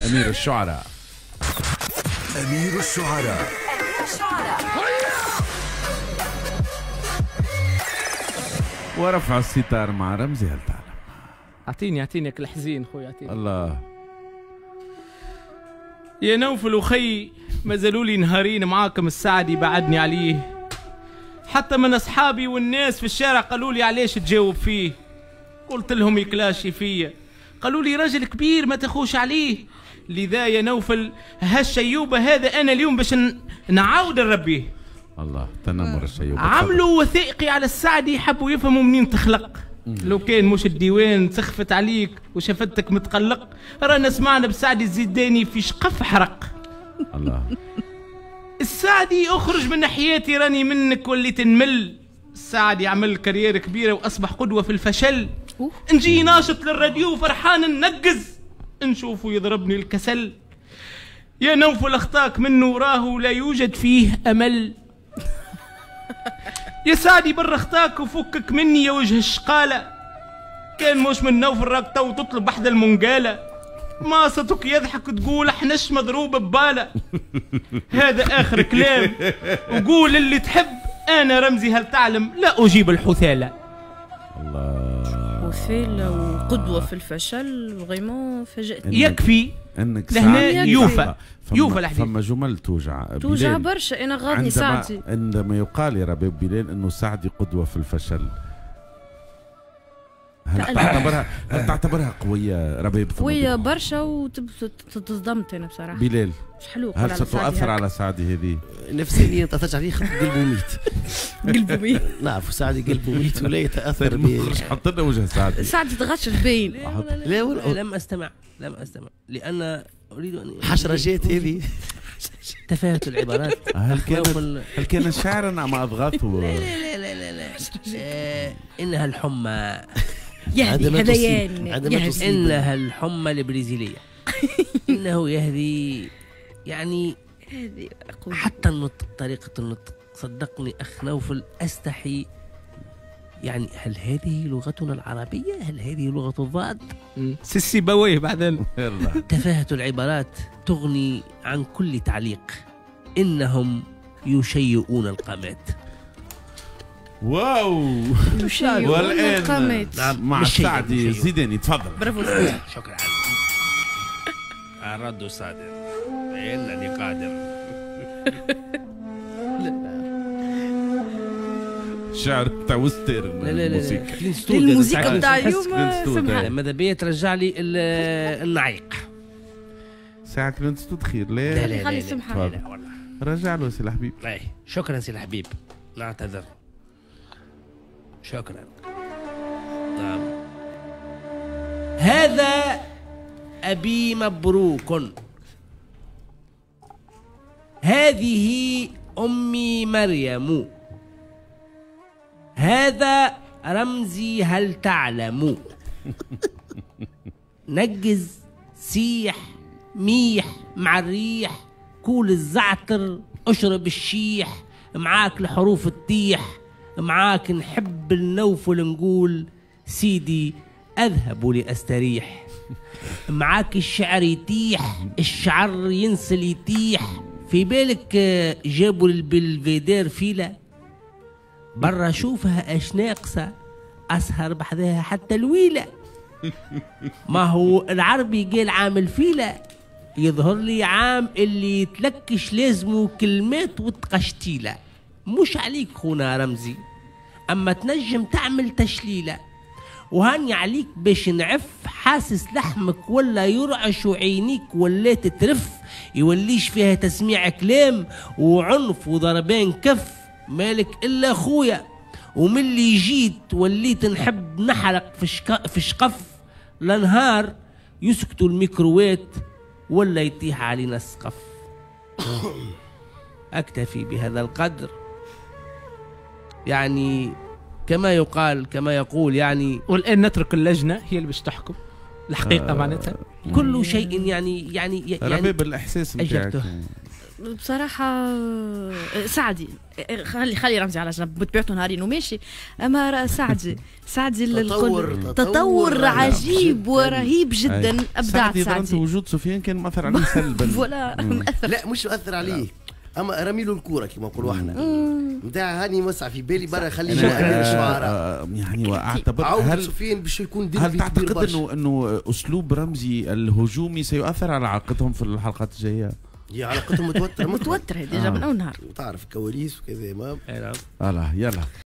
امير الشعراء. امير الشعراء. ورفع الستار مع رمزي هل تعلم. اعطيني اعطيني الحزين خويا، اعطيني. الله يا نوفل وخي، ما زالوا لي نهارين معاكم، السعدي بعدني عليه. حتى من اصحابي والناس في الشارع قالوا لي علاش تجاوب فيه، قلت لهم يكلاشي فيا، قالوا لي راجل كبير ما تخوش عليه. لذا يا نوفل هالشيوبه هذا انا اليوم باش نعاود نربيه. الله، تنمر الشيوبه. عملوا وثائقي على السعدي، حبوا يفهموا منين تخلق. لو كان مش الديوان سخفت عليك وشفتك متقلق، رانا سمعنا بسعدي الزيداني في شقف حرق. الله. السعدي اخرج من حياتي راني منك وليت نمل. السعدي عمل carrière كبيرة واصبح قدوة في الفشل. نجي ناشط للراديو فرحان ننقز، نشوفه يضربني الكسل. يا نوفل اخطاك منه راهو لا يوجد فيه امل. يا سعدي بر اخطاك وفكك مني يا وجه الشقالة، كان مش من نوفل راك تو تطلب بحذا المنقالة. ماصتك يضحك تقول احنش مضروب ببالة. هذا اخر كلام، وقول اللي تحب، انا رمزي هل تعلم لا اجيب الحثالة. الله، حثالة وقدوة في الفشل، vraiment فاجأتني. يكفي انك لهنا يوفى يوفى الحديث. فما جمل توجع، توجع برشا. انا غاضني سعدي عندما يقال يا رباب بلال انه سعدي قدوة في الفشل. هل تعتبرها، هل تعتبرها قوية رباب؟ قوية برشا، وتصدمت انا بصراحة. بلال مش حلو. هل ستؤثر على سعدي هذه؟ نفسيا تاثرت عليه، قلبه ميت. قلبه ميت. نعرف سعدي قلبه ميت ولا يتاثر ب. حط لنا وجه سعدي. سعدي تغشش باين. لا لم استمع، لم استمع، لان اريد ان حشرجات هذه. تفاهة العبارات. هل كان شعرا ام اضغاثه؟ لا لا لا لا لا، انها الحمى. يهدي هذيان، انها الحمى البرازيليه. انه يهدي، يعني حتى النطق، طريقة النطق. صدقني أخ نوفل أستحي، يعني هل هذه لغتنا العربية؟ هل هذه لغة الضاد؟ سيسي بويه بعدين. تفاهة العبارات تغني عن كل تعليق. إنهم يشيئون القامات. واو، يشيئون القامات. نعم، مع سعدي الزيداني. تفضل. برافو. شكرا. الرد صادر، إنني قادر. شعر تاع وستر. لا لا لا، الموسيقى تاع اليوم سمحة. ماذا بيا ترجع لي النعيق. ساعة كلينت ستود خير. لا لا خلي سمحة. رجع له سي الحبيب. شكرا سي الحبيب، نعتذر. شكرا. نعم. هذا أبي مبروك، هذه أمي مريم، هذا رمزي هل تعلم. نجز، سيح، ميح مع الريح، كول الزعتر، اشرب الشيح، معاك الحروف تطيح، معاك نحب النوفل نقول سيدي أذهب لأستريح، معاك الشعر يتيح، الشعر ينسل يتيح. في بالك جابوا البلفيدير فيلة برا، شوفها اش ناقصة، أسهر بحذاها حتى الويلة. ما هو العربي قال عام الفيلة، يظهر لي عام اللي يتلكش لازمه كلمات وتقشتيلة. مش عليك خونا رمزي، أما تنجم تعمل تشليلة، وهاني عليك باش نعف. حاسس لحمك ولا يرعش وعينيك ولا تترف، يوليش فيها تسميع كلام وعنف وضربان كف. مالك إلا خويا، ومن اللي جيت وليت نحب نحرق في شقف. لنهار يسكتوا الميكروات ولا يطيح علينا السقف. أكتفي بهذا القدر. يعني كما يقال، كما يقول يعني. والآن نترك اللجنة هي اللي باش تحكم الحقيقة. معناتها كل شيء يعني ربيب الإحساس نتاعك. بصراحة سعدي، خلي رمزي على جنب، بطبيعته نهارين وماشي، اما سعدي تطور عجيب ورهيب جدا. ابدعت سعدي. وجود سفيان كان مأثر عليه سلبا. voilà مأثر. لا مش مأثر عليه، اما رمي له الكورة كما نقولوا احنا نتاع هاني وسع في بالي برا خليه الشعراء يعني. واعتبر هل سفيان باش يكون هل تعتقد انه اسلوب رمزي الهجومي سيؤثر على علاقتهم في الحلقات الجاية؟ هي علاقتهم متوترة متوترة déjà من اول نهار وتعرف كواليس وكذا. ما يلا.